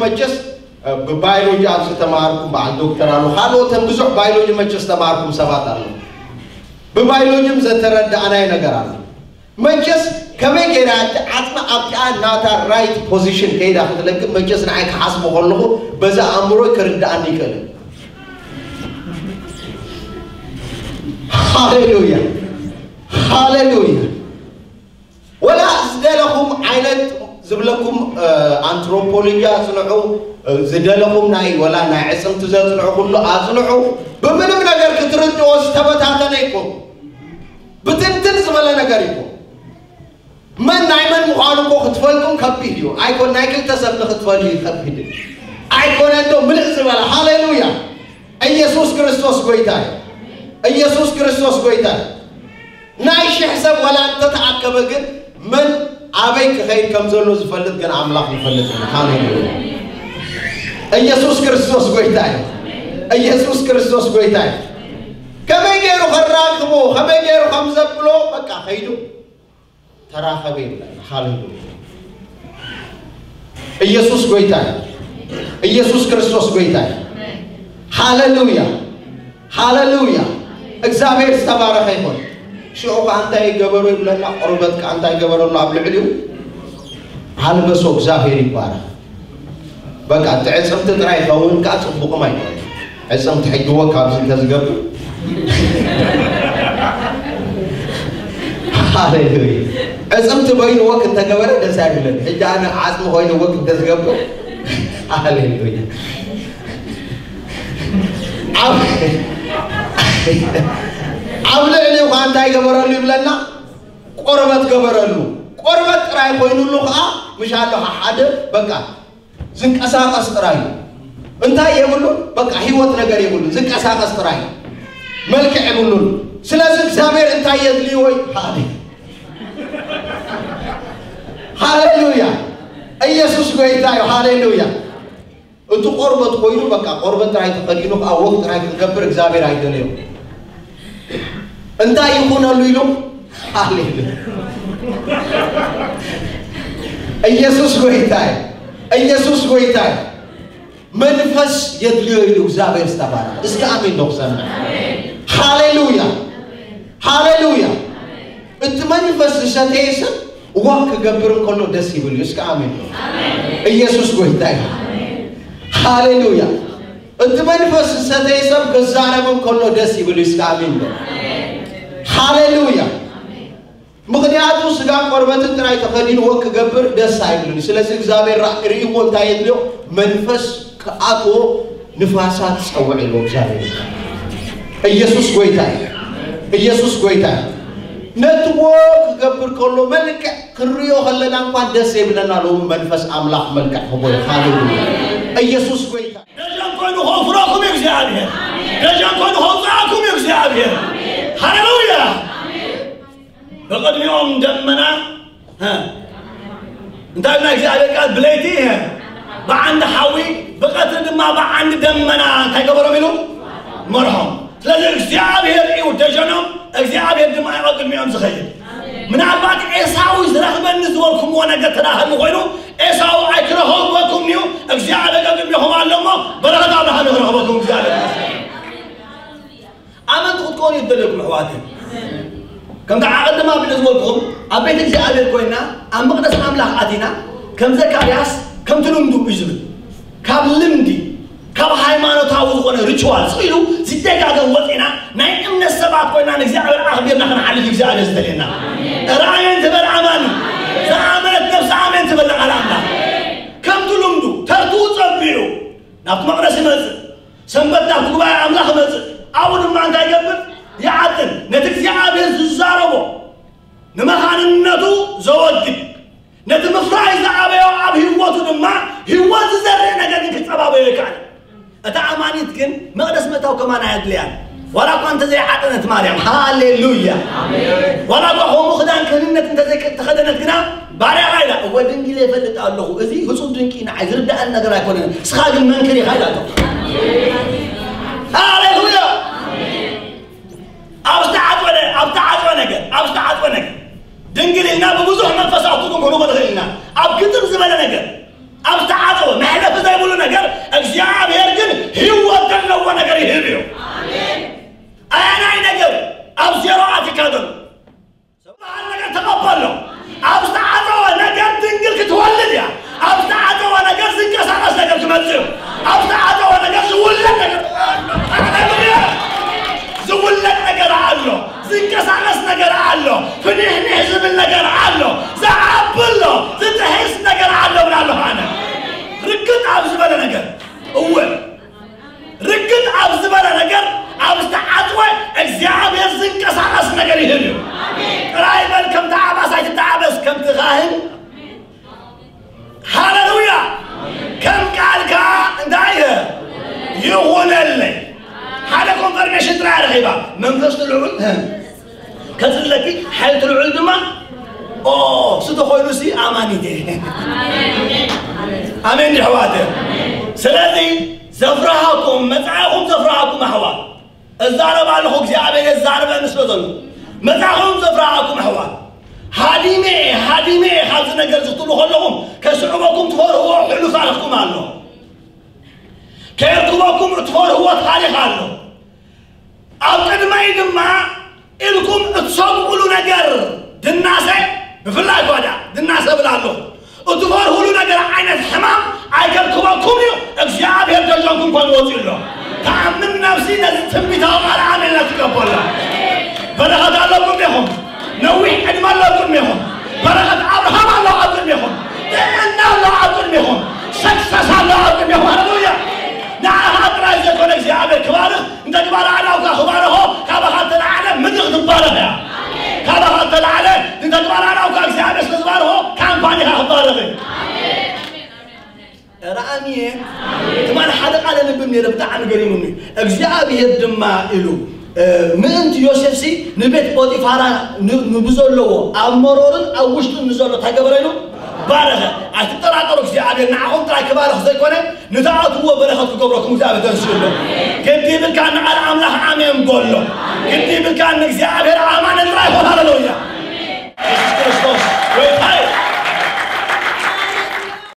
መቸስ ብባዮሎጂ ኣብዚ ተማሃርኩም በዓል ዶክተር ኣሎ፣ ካልኦትን ብዙሕ ባዮሎጂ መቸስ ተማሃርኩም ሰባት ኣሎ። ብባዮሎጂም ዘተረዳእናይ ነገር ኣሎ። መቸስ ከመይ ገይራ እቲ ዓፅሚ ኣብቲኣ ናታ ራይት ፖዚሽን ከይዳ ክትለቅም መቸስ ንዓይ ክሓስቦ ከለኹ በዛ ኣእምሮይ ክርዳኣኒ ይክእል። ሃሌሉያ፣ ሃሌሉያ። ወላ ዝደለኹም ዓይነት ዝብለኩም ኣንትሮፖሎጂ ኣጽንዑ፣ ዝደለኹም ናይ ወላ ናይ ዕጽምቲ ዘጽንዑ ኩሉ ኣጽንዑ። ብምንም ነገር ክትርድኦ ዝተበታተነ ይኮን፣ ብትንትን ዝበለ ነገር ይኮን። መን ናይ መን ምዃኑ እኮ ክትፈልጡም ከቢድ እዩ። ኣይኮን ናይ ክልተ ሰብ ንክትፈልዩ ከቢድ እዩ። ኣይኮነ እንዶ ምልእ ዝበለ። ሃሌሉያ። ኢየሱስ ክርስቶስ ጎይታ እዩ። ኢየሱስ ክርስቶስ ጎይታ እዩ። ናይ ሽሕ ሰብ ወላ እንተተኣከበ ግን መን ኣበይ ክኸይድ ከም ዘሎ ዝፈልጥ ግን ኣምላኽ ይፈልጥ እዩ። ሃሌሉያ። ኢየሱስ ክርስቶስ ጎይታ እዩ። ኢየሱስ ክርስቶስ ጎይታ እዩ። ከመይ ገይሩ ከራክቦ፣ ከመይ ገይሩ ከም ዘብሎ በቃ ከይዱ ተራኸበ ይብለና። ሃሌሉያ። ኢየሱስ ጎይታ እዩ። ኢየሱስ ክርስቶስ ጎይታ እዩ። ሃሌሉያ፣ ሃሌሉያ። እግዚኣብሔር ዝተባረኸ ይኹን። ሽዑ ከኣ እንታይ ገበሩ ይብለና? ቆርበት ከኣ እንታይ ገበረሉ ኣብ ልዕሊኡ? ኣልበሶ። እግዚኣብሔር ይባረኽ። በቃ እቲ ዕፅምቲ ጥራይ ይኸውን ከኣ ፅቡቕም ኣይኮነ። ዕፅምቲ ሕጂ ወክ ኣብዚ እንተዝገብር፣ ሃሌሉያ። ዕፅምቲ በይኑ ወክ እንተገበረ ደስ ኣይብለኒ። ሕጂ ኣነ ዓፅሚ ኮይኑ ወክ እንተዝገብር፣ ሃሌሉያ። ኣብ ኣብ ልዕሊኡ ከዓ እንታይ ገበረሉ ይብለና? ቆርበት ገበረሉ። ቆርበት ጥራይ ኮይኑሉ ከዓ ምሽ ኣሎ ሓደ በቃ ዝንቀሳቀስ ጥራይ እዩ። እንታይ የብሉ? በቃ ህይወት ነገር የብሉ። ዝንቀሳቀስ ጥራይ እዩ። መልክዕ የብሉን። ስለዚ እግዚኣብሔር እንታይ የድልይዎ? ሃሌ-፣ ሃሌሉያ። ኢየሱስ ጎይታ እዩ። ሃሌሉያ። እቲ ቆርበት ኮይኑ በቃ ቆርበት ጥራይ ተኸዲኑ ከዓ ወግ ጥራይ ክገብር እግዚኣብሔር ኣይደለዮ። እንታይ ይኹነሉ ኢሉ? ሃሌሉያ። ኢየሱስ ጎይታ እዩ። ኢየሱስ ጎይታ እዩ። መንፈስ የድልዮ ኢሉ እግዚኣብሔር ዝተባረኸ። እስኪ ኣሜን ዶ ክሰምዕ? ሃሌሉያ። ሃሌሉያ። እቲ መንፈስ ዝሰተየ ሰብ ዋክ ክገብር እንከሎ ደስ ይብል እዩ። እስኪ ኣሜን ዶ? ኢየሱስ ጎይታ እዩ። ሃሌሉያ። እቲ መንፈስ ዝሰተየ ሰብ ክዛረብ እንከሎ ደስ ይብል እዩ። እስኪ ኣሜን ዶ? ሃሌሉያ። ምኽንያቱ ስጋ ቆርበትን ጥራይ ተኸዲንዎ ክገብር ደስ ኣይብልን። ስለዚ እግዚኣብሔር ራ-፣ ርእይዎ እንታይ የድልዮ? መንፈስ ክኣትዎ ንፋሳት ጸውዕ ኢልዎ እግዚኣብሔር። ኢየሱስ ጎይታ እዩ። ኢየሱስ ጎይታ እዩ። ነትዎ ክገብር ከሎ መልክዕ ክንሪኦ ከለና እንኳን ደስ የብለና። ሎሚ መንፈስ ኣምላኽ መልክዕ ክቦ እዩ። ሃሌሉያ። ኢየሱስ ጎይታ። ደጀን ኮይኑ ከውፍረኩም እዩ እግዚኣብሔር። ደጀን ኮይኑ ከውፅኣኩም እዩ እግዚኣብሔር። ሃሌሉያ። ብቕድሚኦም ደመና፣ እ፣ እንታይ ናይ እግዚኣብሔር ቃል ብለይቲ፣ እ፣ ብዓንዲ ሓዊ፣ ብቐትሪ ድማ ብዓንዲ ደመና እንታይ ገበሮም ኢሉ? መርሖም። ስለዚ እግዚኣብሔር እዩ ደጀኖም፣ እግዚኣብሔር ድማ እዩ ኣብ ቅድሚኦም ዝኸይድ። ምናልባት ኤሳው ዝረኽበኒ ዝበልኩምዎ ነገር ተዳህሉ ኮይኑ፣ ኤሳው ኣይክረኸበኩም እዩ፣ እግዚኣብሔር ኣብ ቅድሚኹም ኣሎ እሞ በረኸት ኣምላኽ ንክረኽበኩም እግዚኣብሔር ይመስገን። ኣመንቲ ክትኮኑ ይደለኩም ኣሕዋተይ። ከምቲ ኣቐድም ኣቢለ ዝበልኩኹም ኣብ ቤት እግዚኣብሔር ኮይና ኣብ መቕደስ ኣምላኽ ኣቲና ከም ዘካርያስ ከምቲ ልምዱ እዩ ዝብል ካብ ልምዲ ካብ ሃይማኖታዊ ዝኾነ ሪቹዋል ስቕ ኢሉ ዝደጋገም ወፂና ናይ እምነት ሰባት ኮይና ንእግዚኣብሔር ኣኽቢርና ክንሓልፍ እዩ እግዚኣብሔር ዝደልየና። ራእየን ትበል ኣማኒ ዝኣመነት ነፍሲ ኣሜን ትበል ቃል ኣምላኽ ከምቲ ልምዱ ተርትኡ ጸቢዑ ናብቲ መቕደስ ይመጽእ። ሰንበት ናብቲ ጉባኤ ኣምላኽ ይመጽእ። ኣብኡ ድማ እንታይ ይገብር? ይዓጥን። ነቲ እግዚኣብሔር ዝዛረቦ ንመኻንነቱ ዘወግድ፣ ነቲ ምፍራይ ዝኣበዮ ኣብ ህይወቱ ድማ ህይወት ዝዘርእ ነገር ግን ክጸባበዮ ይከኣል። እታ ኣማኒት ግን መቕደስ ምእታው ከማን ኣየድልያን። ዋላ እኳ እንተዘይዓጠነት ማርያም፣ ሃሌሉያ። ዋላ እኳ ከምኡ ክዳን ክህንነት እንተዘይተኸደነት ግና ባርያኻ ኢላ፣ እወ ድንግል እፈልጥ ኣለኹ፣ እዚ ህጹብ ድንቂ ንዓይ ዝርዳእን ነገር ኣይኮነን፣ ንስኻ ግን መንክር ኢኻ ኢላቶ። ሃሌሉያ። ኣብ ዝተዓጽወ ነ-፣ ኣብ ዝተዓጽወ ነገር፣ ኣብ ዝተዓጽወ ነገር ድንግል ኢልና ብብዙሕ መንፈሳዊ ትርጉም ክንርጎ ንኽእል ኢና። ኣብ ግጥም ዝበለ ነገር፣ ኣብ ዝተዓጽወ መሕለፊ ዘይ ብንሕንሕ ዝብል ነገር ኣሎ፣ ዝዓቢ ኣሎ፣ ዝጥሕስ ነገር ኣሎ እብላ ኣለኹ ኣነ። ርግጥ ኣብ ዝበለ ነገር፣ እወ፣ ርግጥ ኣብ ዝበለ ነገር፣ ኣብ ዝተዓጽወ እግዚኣብሔር ዝንቀሳቐስ ነገር ይህብ እዩ። ጥራይ በል፣ ከምቲ ዓባስ ኣይትተዓበስ፣ ከምቲ ካህን። ሃሌሉያ! ከም ቃልካ እንታይ ይኹነለይ። ሓደ ኮንፈርሜሽን ጥራይ ረኺባ፣ መንፈስ ልዑል ከጽለኪ፣ ሓይል ልዑል ድማ ኦ፣ እሱ ተኾይኑ ሲ ኣማኒት እየ። ኣሜን ድሕዋት። ስለዚ ዘፍርሃኩም፣ መጻኢኹም ዘፍርሃኩም ኣሕዋት፣ እዛረብ ኣለኹ፣ እግዚኣብሔር የዛርበኒ ስለ ዘሎ። መጻኢኹም ዘፍርሃኩም ኣሕዋት፣ ሃዲመ እየ፣ ሃዲመ እየ ካብዚ ነገር እዚ ክትብሉ ከለኹም፣ ከስዕበኩም ትፈርህዎ ሕሉፍ ታሪኽኩም ኣሎ። ከየርክበኩም እትፈርህዎ ታሪኽ ኣሎ። ኣብ ቅድመይ ድማ ኢልኩም እትሰግኡሉ ነገር ድናሰ፣ ብፍላይ ጓዳ ድናሰ እብል ኣለኹ። እትፈርህሉ ነገር ዓይነት ሕማም ኣይከርክበኩም እዩ። እግዚኣብሔር ደጆምኩም ኮን ወፂኡ ኣሎ። ተኣምን ነፍሲ ነዚ ትንቢታዊ ቃል ኣሜን ኢላ ትቀበሎ። በረኸት ኣለኩም ኢኹም። ነዊሕ ዕድመ ኣለኩም ኢኹም። በረኸት ኣብርሃም ኣሎ ኣብ ቅድሜኹም። ጥዕና ኣሎ ኣብ ቅድሜኹም። ሰክሰስ ኣሎ ኣብ ቅድሜኹም። ሃሌሉያ። ንዓኻ ጥራይ ዘይኮነ እግዚኣብሔር ክባርኽ፣ እንተ ግባር ኣእዳውካ ክባርኾ፣ ካባኻ እተለዓለ ምድሪ ክትባረኽ እያ። ካባኻ እተለዓለ እንተ ግባር ኣእዳውካ እግዚኣብሔር ስለ ዝባርኾ፣ ካምፓኒኻ ክባረኽ እዩ። ኧረ ኣሜን። ትማሊ ሓደ ቃል ኣንብብ ነይረ፣ ብጣዕሚ ገሪሙኒ። እግዚኣብሔር ድማ ኢሉ፣ እ፣ ምእንቲ ዮሴፍሲ ንቤት ጶጢፋራ ን-፣ ንብዘለዎ ኣብ መሮርን ኣብ ውሽጡን ንዘሎ እንታይ ገበረ ኢሉ? ባረኸ። ኣይትጠራጠሩ፣ እግዚኣብሔር ንዓኹም ጥራይ ክባርኽ ዘይኮነ፣ ንትኣትዎ በረኸት ክገብረኩም እግዚኣብሔር ተንስኡ ኣሎ። ግዲ ይብልካ ንቓል ኣምላኽ ኣሜን በሎ። ግዲ ይብልካ ንእግዚኣብሔር ኣማን ጥራይ ይኹን። ሃሌሉያ።